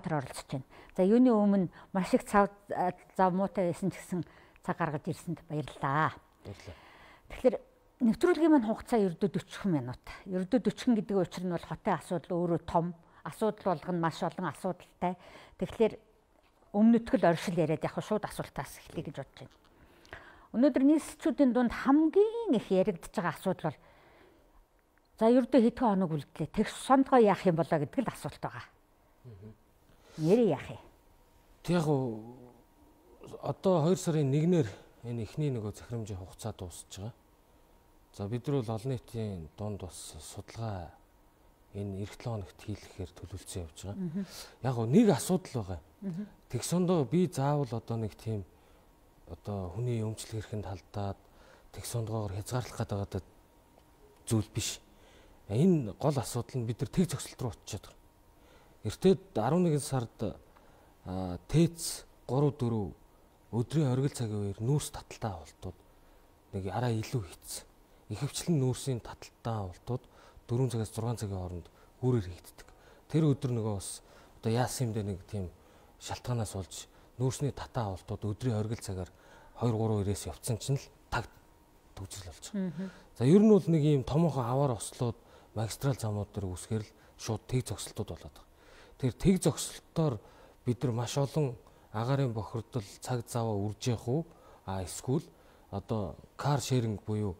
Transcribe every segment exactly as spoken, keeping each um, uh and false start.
Улаанбаатар оролцож байна. За юуны өмнө маш их цав зав муутай байсан ч гэсэн цаг гаргаж ирсэнд баярлалаа. Тэгэхээр нэвтрүүлгийн маань хугацаа ердөө дөрвөн минут. Ердөө дөрвөн гэдэг учир нь бол хотын асуудал өөрөө том. Асуудал болгоно маш олон асуудалтай. Тэгэхээр өмнөдгөл оршил яриад яг шууд асуултаас эхлэе гэж бодож байна. Өнөөдөр нийслэлчүүдийн дунд хамгийн их яригдж байгаа асуудал бол за ердөө хэдхэн хоног үлдлээ. Тэгш сондгоо яах юм болоо гэдэг л асуулт байгаа. Нэрээ яах юм? Тэг яг одоо хоёр сарын нэгнээр энэ эхний нөгөө захирамжийн хугацаа дуусж байгаа. За бид нар бол олон нийтийн дунд бас судалгаа энэ эх долоо хоногт хийлгэхээр төлөвлөсөн явж байгаа. Яг нэг асуудал байгаа. Тэгсондоо би заавал одоо нэг тийм одоо хүний өмчлөх эрхэнд халдаад тэгсондоогоор хязгаарлах гэдэг зүйл биш. Энэ гол асуудал нь бид нар тэг зогсолт руу очиод байгаа. Эртээд арван нэгэн сард ТЭЦ гурав дөрөв өдрийн оргил цагийн үеэр нүүрс таталтай авалтууд нэг араа илүү хийцэн. Ихэвчлэн нүүрсийн таталтай авалтууд дөрвөн цагаас зургаан цагийн хооронд үүрээр хийгддэг. Тэр өдөр нөгөө бас одоо яасан юм дэ нэг тийм шалтгаанаас болж нүүрсний татаа авалтууд өдрийн оргил цагаар хоёр гурван ирээс явцсан чинь л таг төгжрөл болж байгаа. За ер нь бол нэг ийм томоохон аваар ослоод магистрал замууд дээр үсгээр л шууд тэг зогсолтууд болоод байгаа. Тэр тэг зогсолтоор бид нар маш олон агаарын бохирдол цаг заваа үрж явах уу а эсвэл одоо кар шеринг буюу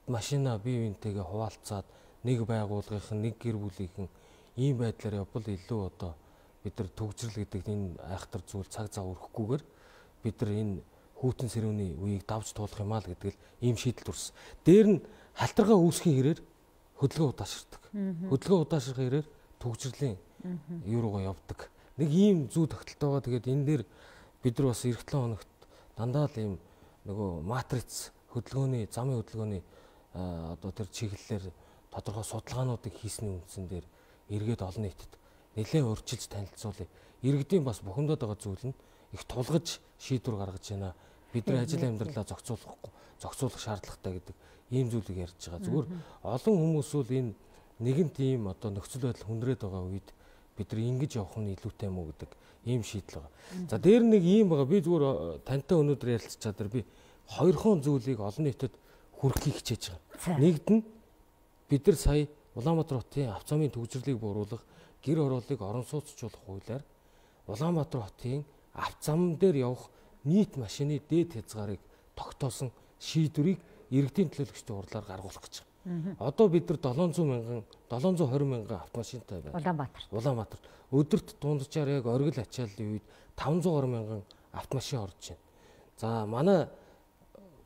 машина бие биентэйгээ хуваалцаад нэг байгууллагын нэг гэр бүлийнхэн ийм байдлаар явбал илүү одоо бид нар төгжрөл гэдэг энэ айхтар зүйл цаг зав өрөхгүйгээр бид нар энэ хүйтэн сэрүүний үеийг давж туулах юм аа л гэдэг л ийм шийдэл төрсөн. Дээр нь халтаргаа үүсхийн хэрээр хөдөлгөөн удаашрдаг. Хөдөлгөөн удаашрах хэрээр төгжрлийн юу руугаа явдаг. Нэг ийм зүй тогтолтой байгаа. Тэгээд энэ дээр бид нар бас эх долоо хоногт дандаа л ийм нөгөө матриц хөдөлгөөний замын хөдөлгөөний одоо тэр чиглэлээр тодорхой судалгаануудыг хийсний үндсэн дээр эргээд олон нийтэд нэлээд урьдчилж танилцуулъя. Иргэдийн бас бухимдаад байгаа зүйл нь их тулгаж шийдвэр гаргаж байна. Бидний ажил амьдралаа зохицуулахгүй, зохицуулах шаардлагатай гэдэг ийм зүйлийг ярьж байгаа. Зүгээр олон хүмүүс бол энэ нэгэн тийм одоо нөхцөл байдал хүндрээд байгаа үед бид нар ингэж явах нь илүүтэй юм уу гэдэг ийм шийдэл байгаа. За дээр нэг ийм байгаа. Би зүгээр тантай өнөөдөр ярилцчаад дээр би хоёрхон зүйлийг олон нийтэд хүргэхийг хичээж байгаа. Нэгд нь бид нар сая Улаанбаатар хотын авто замын төгжрлийг бууруулах, гэр хорооллыг орон сууцчлуулах хуулиар Улаанбаатар хотын авто зам дээр явах нийт машины дээд хязгаарыг тогтоосон шийдвэрийг иргэдийн төлөөлөгчдийн хурлаар гаргуулах гэж байгаа. Одоо бид нар долоон зуун мянган, долоон зуун хорин мянган автомашинтай байна. Улаанбаатар. Улаанбаатар. Өдөрт дунджаар яг оргил ачааллын үед таван зуун гаруй мянган автомашин орж байна. За манай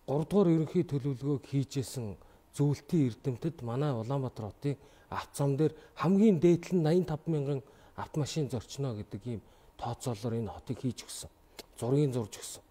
гурав дугаар ерөнхий төлөвлөгөөг хийжсэн зөвлөлтийн эрдэмтэд манай Улаанбаатар хотын авто зам дээр хамгийн дээдл нь найман таван мянган автомашин зорчно гэдэг ийм тооцоолоор энэ хотыг хийж өгсөн. Зургийг зурж өгсөн.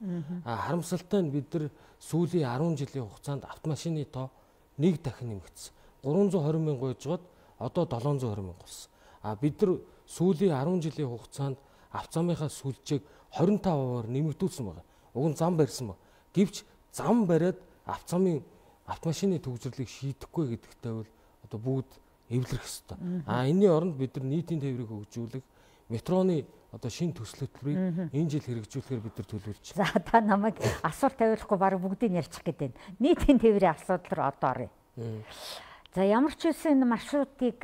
А харамсалтай нь бид нар сүүлийн арван жилийн хугацаанд автомашины тоо нэг дахин нэмэгдсэн. гурван зуун хорин мянга байжгаад одоо долоон зуун хорин мянга болсон. А бид нар сүүлийн арван жилийн хугацаанд авто замынхаа сүлжээг хорин тав хувиар нэмэгдүүлсэн байна. Уг нь зам барьсан байна. Гэвч зам бариад авто замын автомашины төгжрлийг шийдэхгүй гэдэгтэй бол одоо бүгд эвлэрэх ёстой. А энэний оронд бид нар нийтийн тээврийг хөгжүүлэх, метроны одоо шинэ төсөл хөтөлбөрийг энэ жил хэрэгжүүлэхээр бид нар төлөвлөж байна. За та намайг асуулт тавиулахгүй баг бүгдийг ярьчих гээд байна. Нийтийн тээврийн асуудал руу одоо оръё. За ямар ч үсэн энэ маршрутыг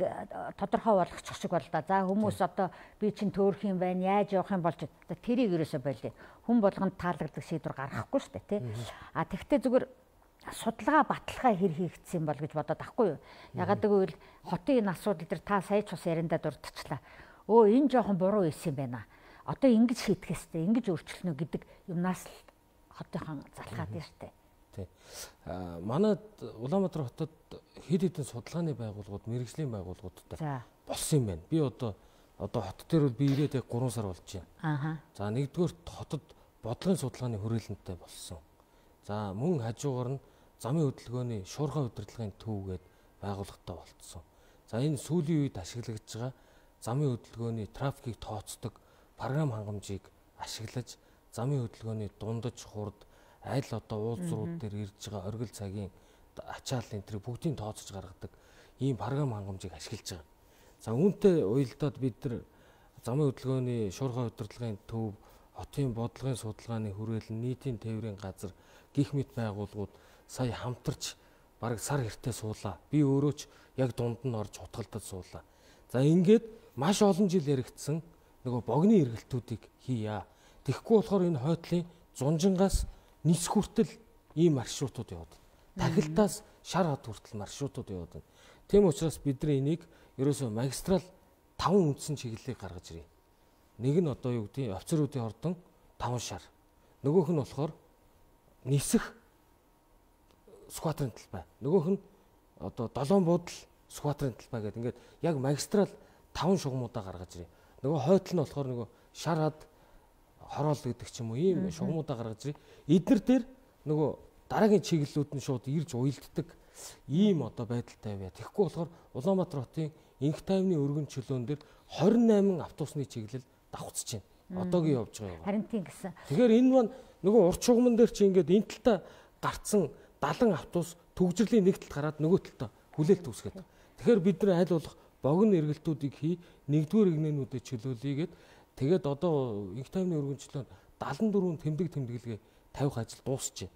тодорхой болгочих шиг бол да. За хүмүүс одоо би чинь төөрөх юм байна, яаж явах юм болж тэрийг ерөөсөө болиё. Хүн болгонд таалагддаг шийдвэр гаргахгүй шүү дээ, тий. А тэгвэл зүгээр судалгаа баталгаа хэр хийгдсэн бол гэж бодоод ахгүй юу. Ягаад гэвэл хотын энэ асуудал дээр та сая ч бас яриандаа дурдчихлаа. Өө энэ жоохон буруу ийсэн юм байна. Одоо ингэж шийдэх ёстой, ингэж өөрчлөнө гэдэг юмнаас л хотынхан залхаад байна штэ. Тий. Аа манайд Улаанбаатар хотод хэд хэдэн судалгааны байгууллагууд, мэргэжлийн байгууллагуудтай болсон юм байна. Би одоо одоо хот дээр бол би ирээд яг гурван сар болж байна. Аа. За нэгдүгээр хотод бодлогын судалгааны хүрээлэнтэй болсон. За мөн хажуугаар нь замын хөдөлгөөний шуурхай удирдлагын төв гээд байгууллагатай болцсон. За энэ сүүлийн үед ашиглагдж байгаа замын хөдөлгөөний трафикийг тооцдог програм хангамжийг ашиглаж замын хөдөлгөөний дундаж хурд аль одоо уулзрууд дээр ирж байгаа оргил цагийн ачааллын энэ бүгдийг тооцож гаргадаг ийм програм хангамжийг ашиглаж байгаа. За үүнтэй уялдаад бид нар замын хөдөлгөөний шуурхай удирдлагын төв, хотын бодлогын судалгааны хүрээлэн, нийтийн тээврийн газар гих мэт байгууллагууд сая хамтарч бараг сар хэртээ суулаа. Би өөрөө ч яг дунд нь орж хутгалдаж суулаа. За ингээд маш олон жил яригдсан нөгөө богны эргэлтүүдийг хийя. Тэгэхгүй болохоор энэ хойдлын зунжингаас нис хүртэл ийм маршрутууд яваад. Тахилтаас шар хот хүртэл маршрутууд яваад байна. Тийм учраас бид нар энийг ерөөсөө магистрал таван үндсэн чиглэлийг гаргаж ирье. Нэг нь одоо юу гэдэг нь офицеруудын ордон таван шар. Нөгөөх нь болохоор нисэх сквадрын талбай. Нөгөөх нь одоо долоон буудал сквадрын талбай гэдэг ингээд яг магистрал таван шугамудаа гаргаж ирье. Нөгөө хойдол нь болохоор нөгөө шар хад хороол гэдэг ч юм уу ийм шугамудаа гаргаж ирье. Эднэр дээр нөгөө дараагийн чиглэлүүд нь шууд ирж уйлддаг ийм одоо байдалтай байя. Тэгэхгүй болохоор Улаанбаатар хотын инх тайвны өргөн чөлөөн дээр хорин найман автобусны чиглэл давхцж байна. Одоогийн явж байгаа юм. Харин тийм гэсэн. Тэгэхээр энэ маань нөгөө урт шугамн дээр чи ингээд энэ талтаа гарцсан далан автобус төгжрлийн нэг талд гараад нөгөө талдаа хүлээлт үүсгээд. Тэгэхээр бид нар аль болох богино эргэлтүүдийг хий, нэгдүгээр игнэнүүдэд чөлөөлийгээд тэгээд одоо инх тайвны өргөн чөлөөнд дагалан дөрвөн тэмдэг тэмдэглэгээ тавих ажил дуусчихэ.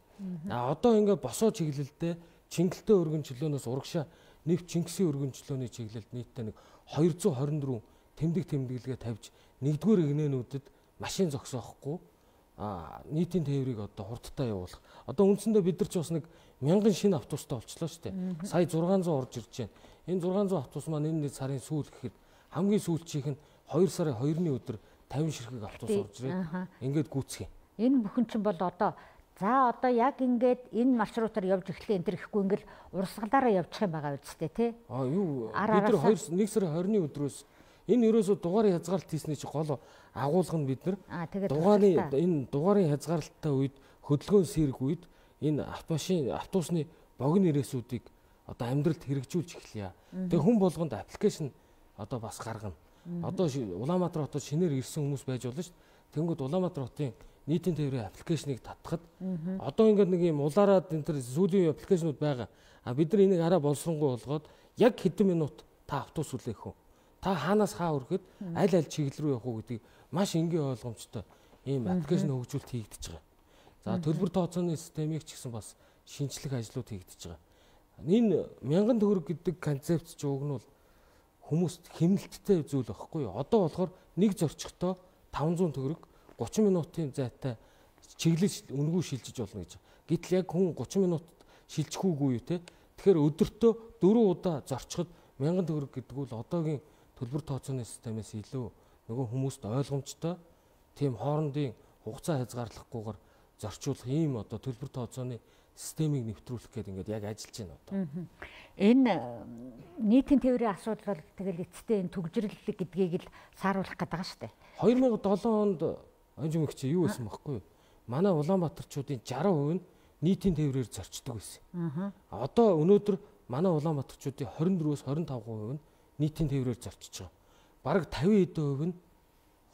А одоо ингээд босоо чиглэлдээ Чингэлтэй өргөн чөлөөнөөс урагшаа нэвт Чингисийн өргөн чөлөөний чиглэлд нийтдээ нэг хоёр зуун хорин дөрвөн тэмдэг тэмдэглэгээ тавьж нэгдүгээр игнэнүүдэд машин зогсоохгүй а нийтийн тээврийг одоо хурдтай явуулах. Одоо үндсэндээ бид нар ч бас нэг мянган шинэ автобустай болчлоо шүү дээ. Сая зургаан зуун орж ирж байна. Энэ зургаан зуун автобус маань энэ сарын сүүл гэхэд хамгийн сүүлчийнх нь хоёр сарын хоёрны өдөр тавин ширхэг автобус орж ирээд ингээд гүйцэх юм. Энэ бүхэн чинь бол одоо за одоо яг ингээд энэ маршрутаар явж эхлэх энэ төр ихгүй ингээл урсгалаараа явчих юм байгаа үстэй тий. А юу бид нар хоёр нэг сарын хорины өдрөөс энэ ерөөсө дугаарын хязгаарлалт хийсний чи гол агуулга нь бид нар дугаарын энэ дугаарын хязгаарлалттай үед хөдөлгөөн сэрэх үед энэ автомашин автобусны богино ирээсүүдийг одоо амьдралд хэрэгжүүлж эхлэе. Тэгээ хүн болгонд аппликейшн одоо бас гаргана. Одоо Улаанбаатар хотод шинээр ирсэн хүмүүс байж болно шүү дээ. Тэнгүүд Улаанбаатар хотын нийтийн тээврийн аппликейшнийг татхад одоо ингээд нэг юм улаараад энэ төр сүүлийн аппликейшнуд байгаа. А бид нар энийг арай боловсронгуй болгоод яг хэдэн минут та автобус үлээх үү? Та хаанаас хаа хүрэхэд аль аль чиглэл рүү явах уу гэдгийг маш энгийн ойлгомжтой ийм аппликейшн хөгжүүлэлт хийгдэж байгаа. За төлбөр тооцооны системийг ч гэсэн бас шинжлэх ажлууд хийгдэж байгаа. Энэ мянган төгрөг гэдэг концепт ч уг нь бол хүмүүст хэмнэлттэй зүйл байхгүй юу? Одоо болохоор нэг зорчигтой таван зуун төгрөг гурван минутын зайтай чиглэж үнгүй шилжиж болно гэж. Гэтэл яг хүн гурван минут шилжихүүгүй юу те. Тэгэхээр өдөртөө дөрвөн удаа зорчход мянган төгрөг гэдэг бол одоогийн төлбөр тооцооны системээс илүү нөгөө хүмүүст ойлгомжтой тийм хоорондын хугацаа хязгаарлахгүйгээр зорчуулах ийм одоо төлбөр тооцооны системийг нэвтрүүлэх гэдэг ингээд яг ажиллаж байна одоо. Энэ нийтийн тээврийн асуудал бол тэгэл эцэстээ энэ төгжрөл гэдгийг л сааруулах гэдэг байгаа шүү дээ. хоёр мянга долоо онд анжимэгч юу байсан бэхгүй юу? Манай Улаанбаатарчуудын шарх хувь нь нийтийн тээврээр зорчдог байсан. Одоо өнөөдөр манай Улаанбаатарчуудын хорин дөрвөөс хорин таван хувь нь нийтийн тээврээр зорчиж байгаа. Бараг тавин эд хувь нь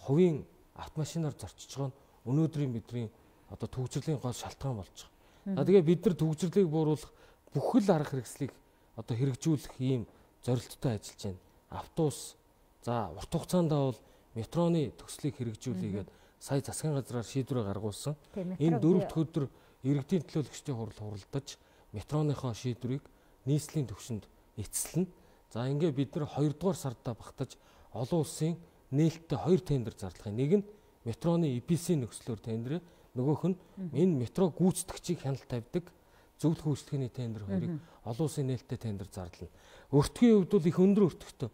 хувийн автомашинаар зорчиж байгаа нь өнөөдрийн бидний одоо төгжрлийн гол шалтгаан болж байгаа. За тэгээ бид нар төгжрлийг бууруулах бүхэл арга хэрэгслийг одоо хэрэгжүүлэх ийм зорилттой ажиллаж байна. Автобус за урт хугацаанд бол метроны төслийг хэрэгжүүлээгээд сая засгийн газраар шийдвэрээ гаргуулсан. Энэ дөрөв дэх өдөр иргэдийн төлөөлөгчдийн хурал хуралдаж метроныхоо шийдвэрийг нийслэлийн түвшинд эцэслэнэ. За ингээд бид нар хоёрдугаар сардаа багтаж олон улсын нээлттэй хоёр тендер зарлахын нэг нь метроны и пи эс-ийн нөхцлөөр тендер, нөгөөх нь энэ метро гүйцэтгэгчийг хяналт тавьдаг зөвлөх үйлчлэгээний тендер хоёрыг олон улсын нээлттэй тендер зарлана. Өртгийн хувьд бол их өндөр өртөгтэй.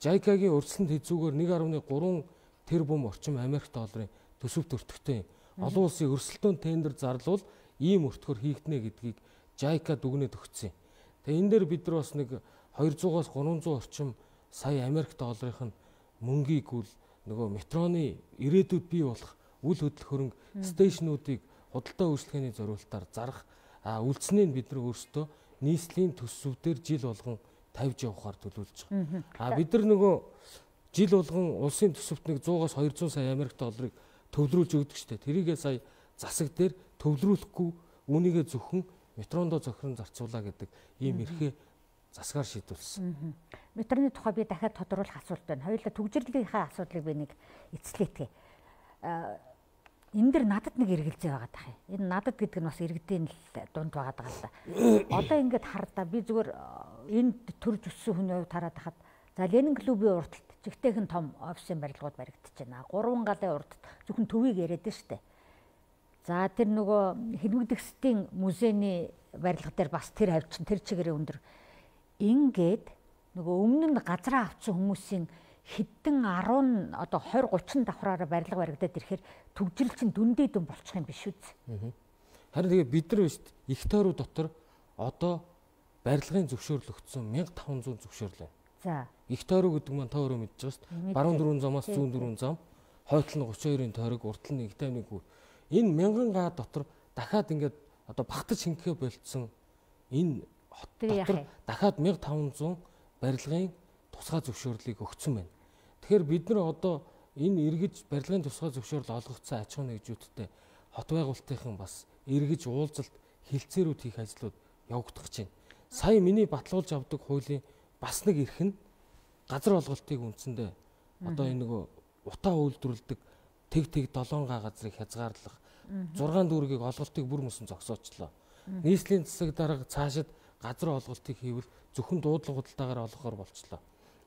жайкагийн өрсөлдөнд хэзүүгээр нэг гаруй гурван тэрбум орчим Америк долларын төсөвт өртөгтэй юм. Олон улсын өрсөлдөөн тендер зарлуул ийм өртгөр хийгднэ гэдгийг жайка дүгнээд өгсөн юм. Тэгээ энэ дээр бид нар бас нэг двухсад-аас гурван зуун орчим сая Америк долларын мөнгийг үл нөгөө метроны ирээдүйд бий болох үл хөдлөх хөрөнгө стейшнуудыг худалдаа үйлчлэгээний зориулалтаар зарах үйлчлэнийг бид нар өөрсдөө нийслэлийн төсөвдөр жил болгон тавьж явахаар төлөвлөж байгаа. А бид нар нөгөө жил болгон улсын төсөвт нэг сто-аас двухсад сая Америк долларыг төвлөрүүлж өгдөг штэ. Тэрийгээ сая засаг дээр төвлөрүүлэхгүй үүнийгээ зөвхөн метрондоо зохирон зарцуулаа гэдэг ийм эрхээ засгаар шийдвэрлсэн. метроны тухай би дахиад тодруулах асуулт байна. Хоёулаа түгжирлийнхаа асуудлыг би нэг эцлээтгэе. Энэ дэр надад нэг эргэлзээ байгаа даа. Энэ надад гэдэг нь бас иргэдийн дунд байгаа даа л да. Одоо ингээд хардаа би зүгээр энд төрж өссөн хүний хувьд хараад хахад за Ленин клубын урталт жигтэйхэн том офисын барилгууд баригдаж байна. Гурван галын урд зөвхөн төвийг яриад нь штэ. За тэр нөгөө Хэлмэгдэгсдийн музейний барилга дээр бас тэр хавчин тэр чигээрээ өндөр. Ингээд нөгөө өмнө нь газраа авсан хүмүүсийн хэдэн десять одоо двадцать тридцать давхраараа барилга баригдаад ирэхээр түгжрэл чинь дүндээ дүн болчих юм биш үү? Харин тэгээ бид нар биш их тойруу дотор одоо барилгын зөвшөөрлөгдсөн мянга таван зуун зөвшөөрөл байна. За. Их тойруу гэдэг маань та өөрөө мэдж байгаа шүү дээ. Баруун дөрвөн замаас зүүн дөрвөн зам, хойдол нь тридцать двын тойрог, уртал нь нэг тавны гүр. Энэ мянган га дотор дахиад ингээд одоо багтаж шингэхэ болцсон энэ хот дотор дахиад мянга таван зуун барилгын тусгай зөвшөөрлийг өгсөн байна. Тэгэхээр бид нар одоо энэ эргэж барилгын тусгай зөвшөөрөл олгогдсон аж ахуй нэгжүүдтэй хот байгуулалтынхан бас эргэж уулзалт хилцээрүүд хийх ажлууд явагдах гэж байна. Сая миний баталгуулж авдаг хуулийн бас нэг эрх нь газар олголтыг үндсэндээ одоо энэ нөгөө утаа үйлдвэрлэдэг тэг тэг долоон га газрыг хязгаарлах зургаан дүүргийг олголтыг бүр мөсөн зогсоочлоо. Нийслэлийн засаг дарга цаашид газар олголтыг хийвэл зөвхөн дуудлага худалдаагаар олгохоор болчлоо.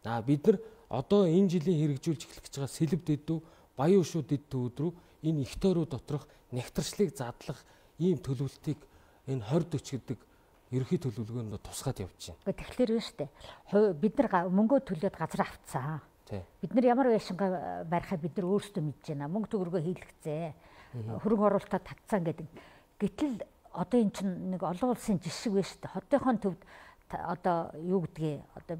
Аа бид нар одоо энэ жилийн хэрэгжүүлж эхлэх гэж байгаа сэлб дэдүү, баян шүү дэдүү өдрөө энэ их тойруу доторх нэгтрчлыг задлах ийм төлөвлөлтийг энэ двадцать40 гэдэг ерөнхий төлөвлөгөөнд тусгаад явж байна. Тэгэхээр нь шүү дээ. Бид нар мөнгөө төлөөд газар авцсан. Бид нар ямар байшингаа барихаа бид нар өөрсдөө мэдж байна. Мөнгө төгрөгөө хийлгэцээ. Хөрөнгө оруулалтаа татсан гэдэг. Гэтэл одоо эн чинь нэг олон улсын жишг байна шүү дээ. Хотынхон төвд одоо юу гэдгийг одоо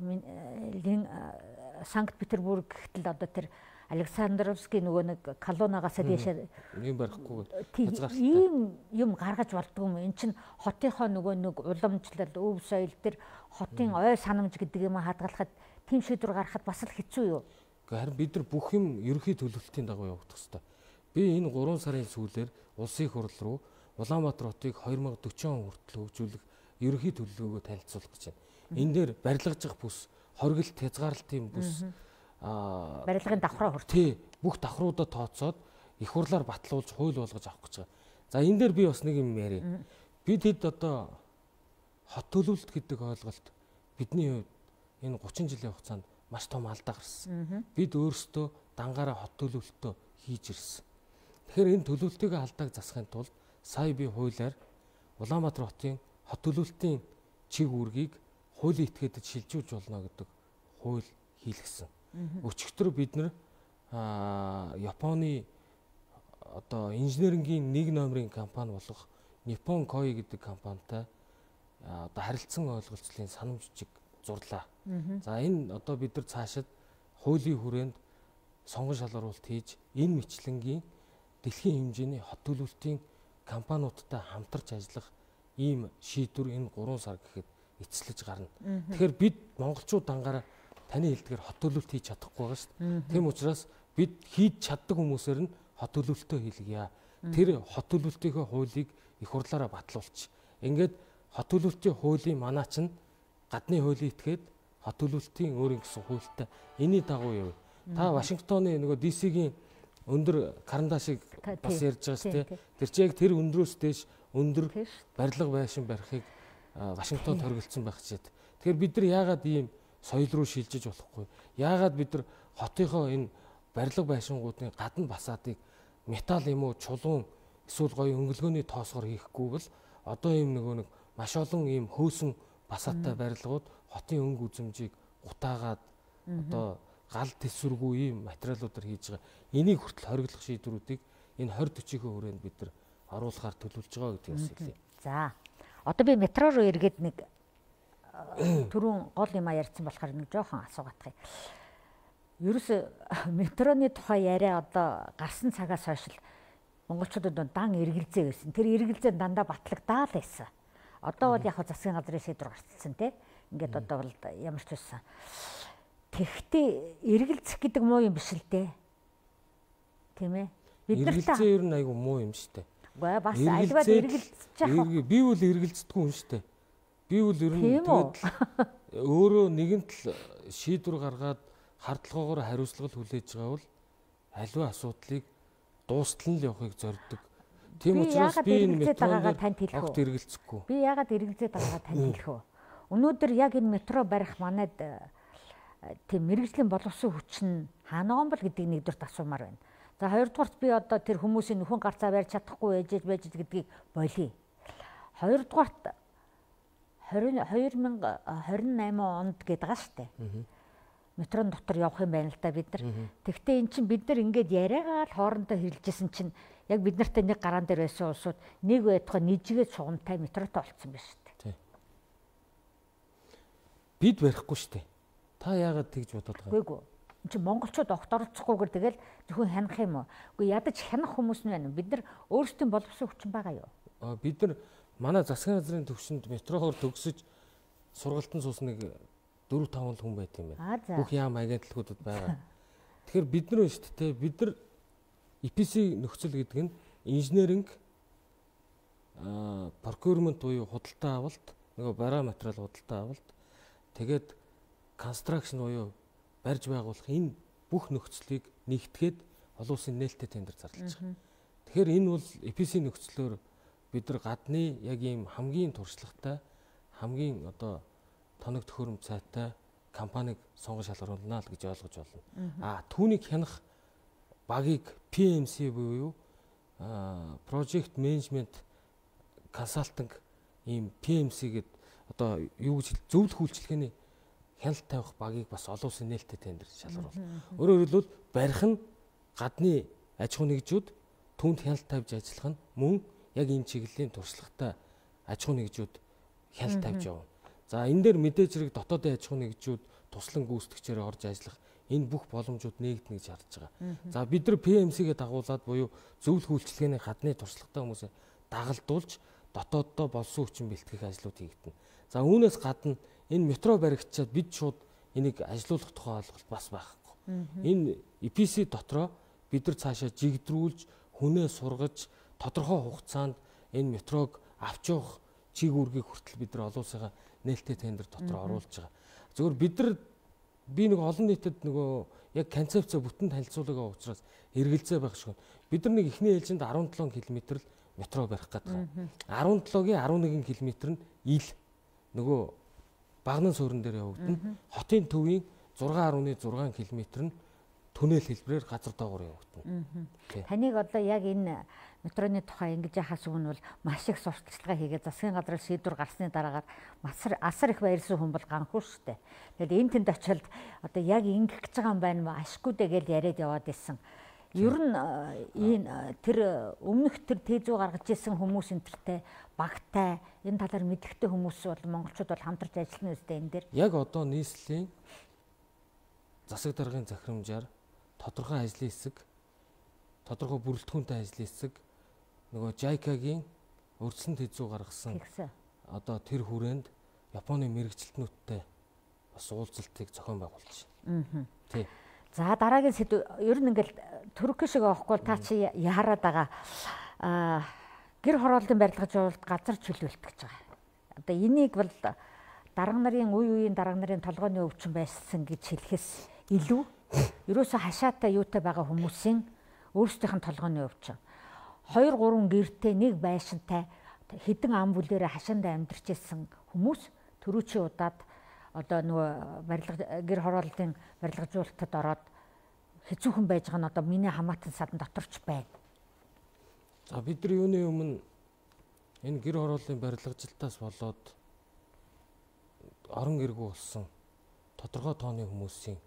Санкт Петербург гэтэл одоо тэр Александровский нөгөө нэг колоннагаас дэшээ юм барихгүй хязгаартай. Ийм юм гаргаж болдгоо юм. Эн чинь хотынхоо нөгөө нэг уламжлал, өв соёл тэр хотын ой санамж гэдэг юм хадгалахад тийм шийдвэр гаргахад бас л хэцүү юу? Харин бид нар бүх юм ерөнхий төлөвлөлтийн дагуу явагдах хэрэгтэй. Би энэ гурван сарын сүүлээр улсын хурал руу Улаанбаатар хотыг двадцать forty он хүртэл хөгжүүлэх ерөнхий төлөвлөгөөгөө танилцуулах гэж байна. Энэ дээр барилгажих бүс, хоригдолт хязгаарлалтын бүс аа барилгын давхраа хүртэл тий бүх давхруудаа тооцоод их хурлаар батлуулж хууль болгож авах гэж байгаа. За энэ дээр би бас нэг юм яриа. Бид хэд одоо хот төлөвлөлт гэдэг ойлголт бидний хувьд энэ thirty жилийн хугацаанд маш том алдаа гарсан. Бид өөрсдөө дангаараа хот төлөвлөлтөө хийж ирсэн. Тэгэхээр энэ төлөвлөлтийн алдааг засахын тулд сая би хуулиар Улаанбаатар хотын хот төлөвлөлтийн чиг үүргийг хуулийн этгээдэд шилжүүлж болно гэдэг хууль хийлгэсэн. Өчигдөр бид нар Японы одоо инженерингийн нэг номерын компани болох Nippon Koi гэдэг компанитай одоо харилцан ойлголцлын санамж жиг зурлаа. За энэ одоо бид нар цаашид хуулийн хүрээнд сонгон шалгаруулалт хийж энэ мэтлэнгийн дэлхийн хэмжээний хот төлөвлөлтийн компаниудтай хамтарч ажиллах ийм шийдвэр энэ гурван сар гэхэд эцэлж гарна. Тэгэхээр бид монголчууд дангаараа таны хэлдгээр хот төлөвлөлт хийж чадахгүй байгаа шүү дээ. Тийм учраас бид хийж чаддаг хүмүүсээр нь хот төлөвлөлтөө хийлгье. Тэр хот төлөвлөлтийнхөө хуулийг их хурлаараа батлуулчих. Ингээд хот төлөвлөлтийн хуулийн манаа чинь гадны хуулийн этгээд хот төлөвлөлтийн өөрийн гэсэн хуультай энэний дагуу яв. Та Вашингтоны нөгөө ди си-гийн өндөр карандашыг бас ярьж байгаа шүү дээ. Тэр чинь яг тэр өндрөөс дээш өндөр барилга байшин барихыг Вашингтонд хоригдсон байх чийд. Тэгэхээр бид нар яагаад ийм соёл руу шилжиж болохгүй? Яагаад бид нар хотынхоо энэ барилга байшингуудын гадна басаадыг металл юм уу чулуун эсвэл гоё өнгөлгөөний тоосгоор хийхгүй бол одоо ийм нөгөө нэг маш олон ийм хөөсөн басаатай барилгууд хотын өнгө үзэмжийг гутаагаад одоо гал тэсвэргүй ийм материалуудаар хийж байгаа. Энийг хүртэл хориглох шийдвэрүүдийг энэ twenty forty-ийн хүрээнд бид нар оруулахаар төлөвлөж байгаа гэдгийг бас хэлье. За. Одоо би метро руу эргээд нэг түрүүн гол юм ярьсан болохоор нэг жоохон асуугаадах юм. Ерөөсө метроны тухай яриа одоо гарсан цагаас хойш л монголчуудад дан эргэлзээ байсан. Тэр эргэлзээ дандаа батлагдаа л байсан. Одоо бол яг засгийн газрын шийдвэр гарцсан тий. Ингээд одоо бол ямар ч байсан. Тэгэхдээ эргэлзэх гэдэг муу юм биш л дээ. Тийм ээ. Бид нар эргэлзээ ер нь айгүй муу юм шүү дээ. Үгүй бас альваад эргэлзэж байгаа. Би бол эргэлздэггүй юм шүү дээ. Би Би бол ер нь тэгээд өөрөө нэгэнт л шийдвэр гаргаад хардлагаагаар хариуцлага хүлээж байгаа бол аливаа асуудлыг дуустал нь явахыг зорддог. Тийм учраас би энэ метрогаа танд хэлэх үү? Хэрэгэлцэхгүй. Би яагаад хэрэгэлзээд байгаагаа танд хэлэх үү? Өнөөдөр яг энэ метро барих манайд тийм мэрэгжлийн боловсон хүч нь хаанаа бол гэдгийг нэгдүгээрт асуумаар байна. За хоёрдугаарт би одоо тэр хүмүүсийн нөхөн гарцаа барьж чадахгүй ээжэж байж гэдгийг болиё. Хоёрдугаарт две мянга двадцать восемь онд гээд байгаа штэ. Метрон дотор явах юм байна л да бид нар. Тэгвэл эн чинь бид нар ингээд яриагаа л хоорондоо хэрэлжсэн чинь яг бид нартай нэг гараан дээр байсан улсууд нэг байтугай нийжгээд сугамтай метротой болцсон байна штэ. Бид барихгүй штэ. Та яагаад тэгж бодоод байгаа? Үгүй ээ. Энд чинь монголчууд огт оролцохгүйгээр тэгэл зөвхөн хянах юм уу? Үгүй ядаж хянах хүмүүс нь байна. Бид нар өөрсдийн боловсон хүчин байгаа юу? Аа бид нар манай засгийн газрын төвшөнд метроор төгсөж сургалтын суусныг дөрөв таван хүн байт юм байна. Бүх яам агентлагуудад байгаа. Тэгэхээр бид нар шүү дээ бид нар и пи эс нөхцөл гэдэг нь инженеринг аа procurement буюу худалдаа авалт, нөгөө бараа материал худалдаа авалт, тэгээд construction буюу барьж байгуулах энэ бүх нөхцөлийг нэгтгээд олон улсын нээлттэй тендер зарлаж байгаа. Тэгэхээр энэ бол и пи эс нөхцлөөр бид нар гадны яг ийм хамгийн туршлагатай, хамгийн одоо тоног төхөөрөмж цайтай компанийг сонгож шалгаруулна л гэж ойлгож байна. Аа түүнийг хянах багийг пи эм си буюу project management consulting ийм пи эм си гэдэг одоо юу гэж зөвлөх үйлчилгээний хяналт тавих багийг бас олон улсын нээлттэй тендер шалгаруулна. Өөрөөр хэлбэл барих нь гадны аж ахуй нэгжүүд, түүнд хяналт тавьж ажиллах нь мөн яг энэ чиглэлийн туршлагатай аж ахуй нэгжүүд хяналт тавьж явна. За энэ дээр мэдээж хэрэг дотоодын аж ахуй нэгжүүд туслан гүйцэтгэгчээр орж ажиллах энэ бүх боломжууд нээгдэнэ гэж харж байгаа. За бид нар пи эм си-гээ дагуулад буюу зөвлөх үйлчилгээний гадны туршлагатай хүмүүсээ дагалдуулж дотооддоо болсон хүчин бэлтгэх ажлууд хийгдэнэ. За үүнээс гадна энэ метро баригчаад бид шууд энийг ажилуулах тухай ойлголт бас байхгүй. Энэ и пи эс дотроо бид нар цаашаа жигдрүүлж, хүнээ сургаж, тодорхой хугацаанд энэ метрог авч явах чиг үүргийг хүртэл бид нар олон улсынхаа нээлттэй тендер дотор оруулж байгаа. Зөвхөн бид нар би нэг олон нийтэд нөгөө яг концепцээ бүтэн танилцуулга учраас эргэлзээ байх шиг. Бид нар нэг эхний ээлжинд арван долоо км л метро барих гэдэг. арван долоогийн арван нэгэн км нь ил нөгөө багнан суурин дээр явагдана. Хотын төвийн зургаан гаруй зургаан км нь түнэл хэлбэрээр газар доогуур явагдана. Таныг одоо яг энэ метроны тухай ингэж яхаас өмнө бол маш их сурталчилгаа хийгээд засгийн газраар шийдвэр гарсны дараагаар асар асар их баярлсан хүн бол ганхүү шүү дээ. Тэгэл энэ тэнд очиод одоо яг ингэх гэж байгаа юм байна маа ашгүй дээ гэж яриад яваад исэн. Ер нь энэ тэр өмнөх тэр тезүү гаргаж исэн хүмүүс энтертэй багтай энэ талаар мэдрэхтэй хүмүүс бол монголчууд бол хамтарч ажиллана үстэй энэ дээр. Яг одоо нийслэлийн засаг даргын захирамжаар тодорхой ажлын хэсэг, тодорхой бүрэлдэхүүнтэй ажлын хэсэг нөгөө жайкагийн өрсөн тезүү гаргасан одоо тэр хүрээнд Японы мэрэгчлэтнүүдтэй бас уулзалтыг зохион байгуулж байна. Тий. За дараагийн сэдв ер нь ингээл Турк шиг авахгүй та чи яарад байгаа аа гэр хорооллын барилгаж явуулалт газар чөлөөлт гэж байгаа. Одоо энийг бол дарга нарын үе үеийн дарга нарын толгойн өвчин байсан гэж хэлэхээс илүү ерөөсө хашаатай юутай байгаа хүмүүсийн өөрсдийнх нь толгойн өвчин. Хоёр гурван гэртэй нэг байшинтай хэдэн ам бүлээрээ хашаандаа амьдарч ирсэн хүмүүс төрүүчийн удаад одоо нөгөө барилга гэр хорооллын барилгажуулалтад ороод хэцүүхэн байж байгаа нь одоо миний хамаатан садан доторч байна. За бид нар юуны өмнө энэ гэр хорооллын барилгажилтаас болоод орон иргүү болсон тодорхой тооны хүмүүсийн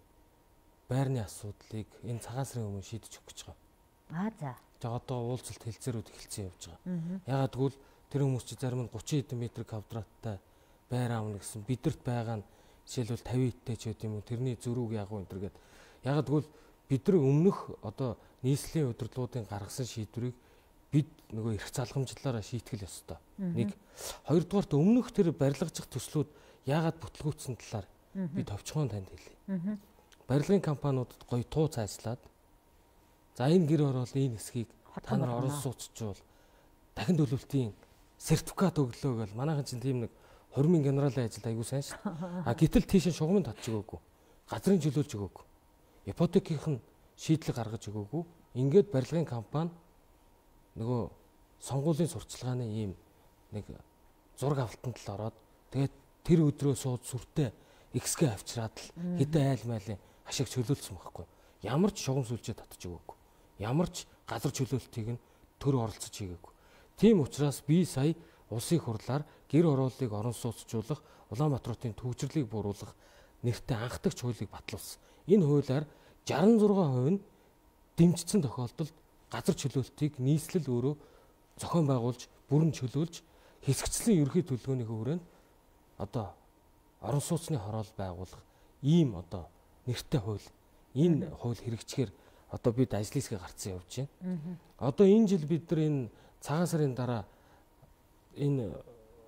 байрны асуудлыг энэ цагаан сарын өмнө шийдэж өгөх гэж байгаа. Аа за. За одоо уулзалт хэлцээрүүд эхэлсэн явж байгаа. Ягаад гэвэл тэр хүмүүс чи зарим нь гучин хэдэн метр квадраттай байр аавна гэсэн бидэрт байгаа нь жишээлбэл тавин иттэй ч гэдэм юм тэрний зөрүүг ягуу энэ төр гээд. Ягаад гэвэл бид нар өмнөх одоо нийслэлийн удирдлагуудын гаргасан шийдвэрийг бид нөгөө эрх залгамжлаараа шийтгэл ёстой. Нэг хоёрдугаарт өмнөх тэр барилгажих төслүүд яагаад бүтлгүүцсэн талаар би товчхон танд хэлье. Барилгын компаниудад гоё туу цайслаад за энэ гэр хороол энэ хэсгийг та нар орон сууцчвал дахин төлөвлөлтийн сертификат өглөө гэл манайхан чинь тийм нэг Хормын генералын ажил айгүй сайн шүү дээ. А гэтэл тийш шугамд татж өгөөгүй. Газрын чөлөөлж өгөөгүй. Ипотекийн шийдлэг гаргаж өгөөгүй. Ингээд барилгын компани нөгөө сонгуулийн сурчлагын ийм нэг зураг авалтанд л ороод тэгээд тэр өдрөө сууд сүртэй эксгэ авчраад л хэдэн айл майлын ашиг чөлөөлсөн байхгүй. Ямар ч шугам сүлжээ татж өгөөгүй. Ямар ч газар чөлөөлтийг нь төр оролцож хийгээгүй. Тийм учраас би сая улсын хурлаар гэр орооллыг орон сууцжуулах, Улаанбаатарын төвчрлийг бууруулах нэртэй анхдагч хуулийг батлуулсан. Энэ хуулиар шестьдесят и шесть хувь нь дэмжсэн тохиолдолд газар чөлөөлтийг нийслэл өөрөө зохион байгуулж, бүрэн чөлөөлж, хэсэгчлэн ерөнхий төлөвлөгөөний хүрээнд одоо орон сууцны хороол байгуулах ийм одоо нэртэй хууль. Энэ хууль хэрэгжихээр одоо бид ажлын хэсгээ гарцсан явж байна. Одоо энэ жил бид нар энэ цагаан сарын дараа энэ